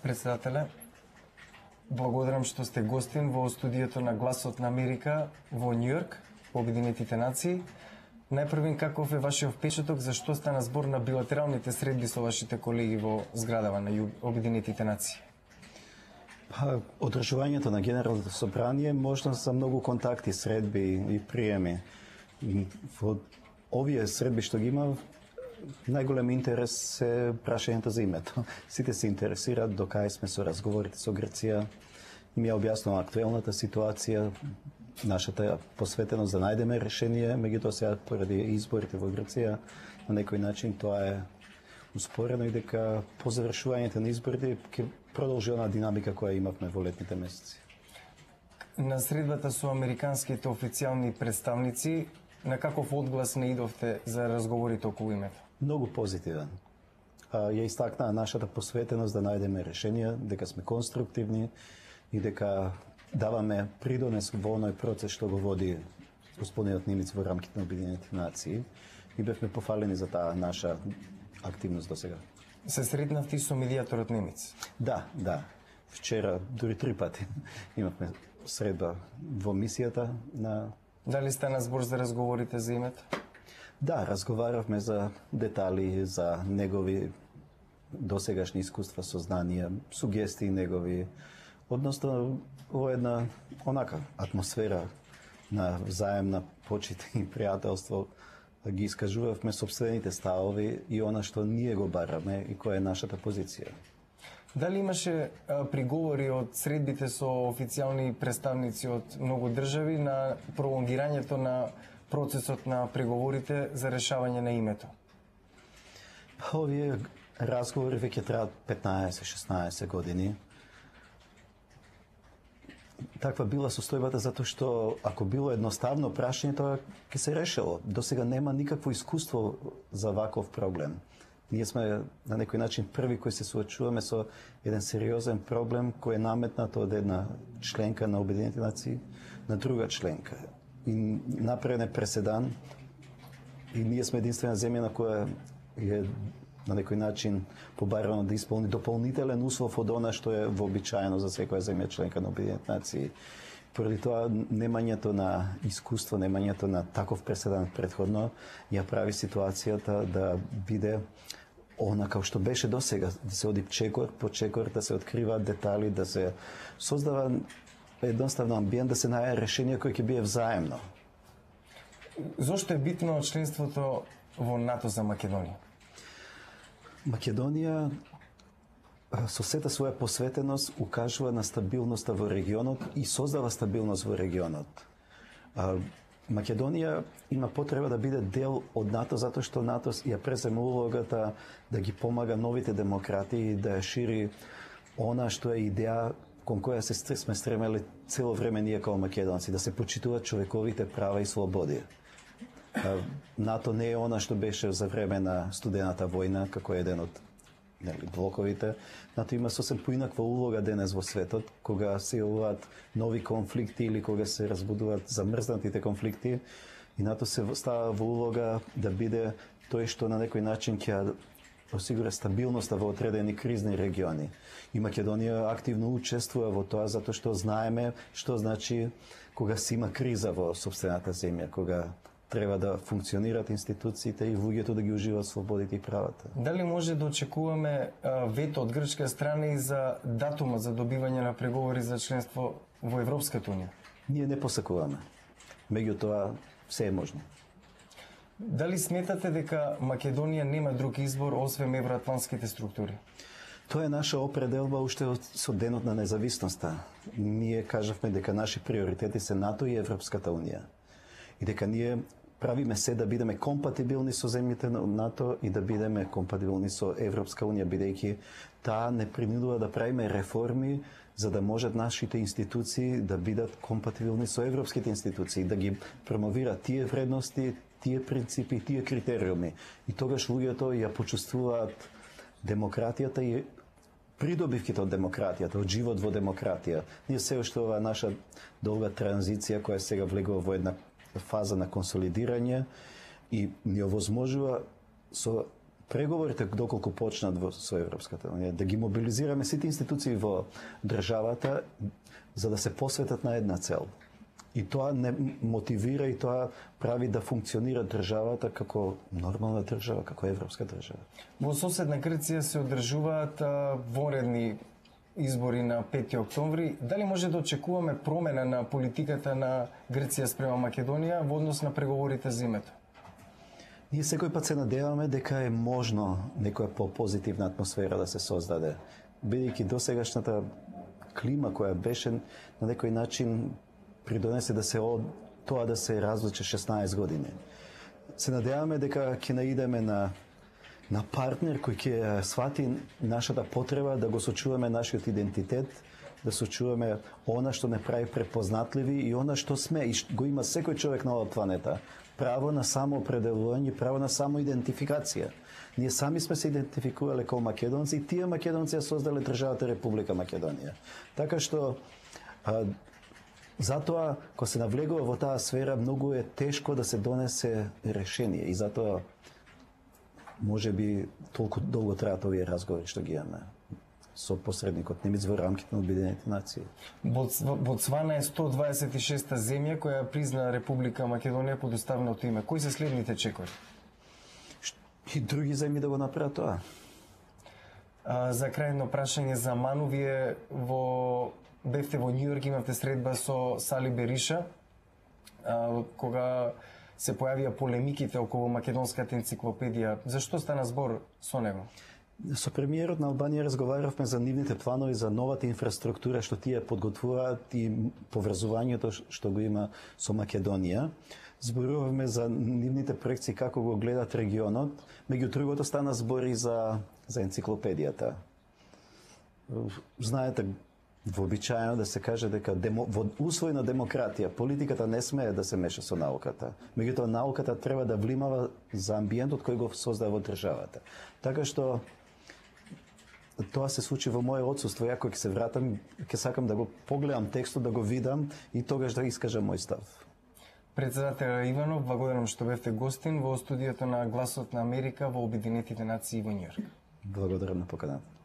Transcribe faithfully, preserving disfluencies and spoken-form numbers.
Председателе, благодарам што сте гостин во студиото на Гласот на Америка во Њујорк, во Обединетите нации. Најпрвин, каков е вашиот впечаток, зашто стана збор на билатералните средби со вашите колеги во зградава на Обединетите нации? Па, одржувањето на Генералното собрание можна за многу контакти, средби и приеми. Во овие средби што ги има, најголем интерес е прашањето за името. Сите се интересираат до кај сме со разговорите со Грција. Ми ја објаснува актуелната ситуација, нашата посветеност да најдеме решение, меѓутоа сега поради изборите во Грција на некој начин тоа е успорено и дека по завршувањето на изборите ќе продолжи она динамика која имавме во летните месеци. На средбата со американските официјални представници, на каков одглас не идовте за разговорите околу името? Многу позитивен. Ја истакнаа нашата посветеност да најдеме решенија, дека сме конструктивни и дека даваме придонес во оној процес што го води господинот Нимиц во рамките на Обединетите нации и бевме пофалени за таа наша активност до сега. Се сретнавте со медијаторот Немец? Да, да. Вчера, дури три пати, имавме средба во мисијата на... Дали стана збор за разговорите за името? Да, разговаравме за детали, за негови досегашни искуства, сознанија, сугестии негови, односно во една онака атмосфера на взаемна почит и пријателство ги искажувавме собствените ставови и она што ние го бараме и која е нашата позиција. Дали имаше а, приговори од средбите со официјални представници од многу држави на пролонгирањето на процесот на преговорите за решавање на името? Овие разговори веќе траат петнаесет-шеснаесет години. Таква била состојбата затоа што ако било едноставно прашање, тоа ќе се решило. До сега нема никакво искуство за ваков проблем. Ние сме на некој начин први кои се суочуваме со еден сериозен проблем кој е наметнат од една членка на Обединетите нации на друга членка. И направен е преседан и ние сме единствена земја на која е на некој начин побарано да исполни дополнителен услов од она што е вообичаено за секоја земја членка на Обединетите нации. Поради тоа, немањето на искуство, немањето на таков преседан предходно ја прави ситуацијата да биде она како што беше до сега, да се оди чекор по чекор, да се откриваат детали, да се создава едноставно амбиент, да се најде решение кој ќе биде взаемно. Зошто е битно членството во НАТО за Македонија? Македонија со сета своја посветеност укажува на стабилноста во регионот и создава стабилност во регионот. Македонија има потреба да биде дел од НАТО затоа што НАТО ја презема улогата да ги помага новите демократии, да ја шири она што е идеја кон која се сме стремели цело време ние како македонци, да се почитуваат човековите права и слободи. НАТО не е она што беше за време на студената војна, како еден од нели, блоковите. НАТО има сосем поинаква улога денес во светот, кога се јавуваат нови конфликти или кога се разбудуваат замрзнатите конфликти, и НАТО се става во улога да биде тој што на некој начин ќе осигура стабилноста во одредени кризни региони. И Македонија активно учествува во тоа затоа што знаеме што значи кога се има криза во сопствената земја, кога треба да функционираат институциите и луѓето да ги уживаат слободите и правата. Дали може да очекуваме а, вето од грчка страна и за датума за добивање на преговори за членство во Европската унија? Ние не посакуваме. Меѓутоа, се е можно. Дали сметате дека Македонија нема друг избор освен евроатлантските структури? Тоа е наша определба уште со денот на независноста. Ние кажавме дека наши приоритети се НАТО и Европската унија. И дека ние правиме се да бидеме компатибилни со земјите на НАТО и да бидеме компатибилни со Европска унија, бидејќи таа не принудува да правиме реформи за да можат нашите институции да бидат компатибилни со европските институции, да ги промовираат тие вредности, тие принципи, тие критериуми. И тогаш луѓето ја почувствуваат демократијата и придобивките од демократијата, од живот во демократија. Ние се уште ова наша долга транзиција која сега влегува во една фаза на консолидирање и ни овозможува со преговорите доколку почнат во со Европската унија, да ги мобилизираме сите институции во државата за да се посветат на една цел. И тоа не мотивира и тоа прави да функционира државата како нормална држава, како европска држава. Во соседна Грција се одржуваат вонредни избори на пети октомври. Дали може да очекуваме промена на политиката на Грција спрема Македонија во однос на преговорите за името? Ние секој пат се надеваме дека е можно некоја по-позитивна атмосфера да се создаде, бидејќи досегашната клима која беше на некој начин придонесе да се од тоа да се развлече шеснаесет години. Се надеваме дека ќе наидеме на на партнер кој ќе свати нашата потреба да го сочуваме нашиот идентитет, да сочуваме она што не прави препознатливи и она што сме и го има секој човек на оваа планета. Право на самоопределување, право на самоидентификација. Ние сами сме се идентификувале како македонци и тие македонци ја создале државата Република Македонија. Така што а, затоа кога се навлегува во таа сфера многу е тешко да се донесе решение и затоа може би толку долго траат овие разговори што ги имаме со посредникот Немец во рамките на Обединетите нации. Ботсвана е сто дваесет и шеста земја која призна Република Македонија под уставното име. Кои се следните чекори? И други земји да го направат тоа. А, за крајно прашање за Ману, вие во бевте во Њујорк, имавте средба со Сали Бериша, а, кога се појавија полемиките околу македонската енциклопедија. Зашто стана збор со него? Со премиерот на Албанија разговаравме за нивните планови за новата инфраструктура што тие подготвуваат и поврзувањето што го има со Македонија. Зборувавме за нивните проекции како го гледат регионот, меѓу другото стана збори за за енциклопедијата. Знаете, вообичаено да се каже дека демо, во услови на демократија политиката не смее да се меша со науката. Меѓутоа науката треба да внимава за амбиентот кој го создава во државата. Така што тоа се случи во моје отсуство. Ја кога ќе се вратам, ќе сакам да го погледам текстот, да го видам и тогаш да искажам мој став. Председател Иванов, благодарам што бевте гостин во студиото на Гласот на Америка во Обединетите нации во Њујорк. Благодарам на поканата.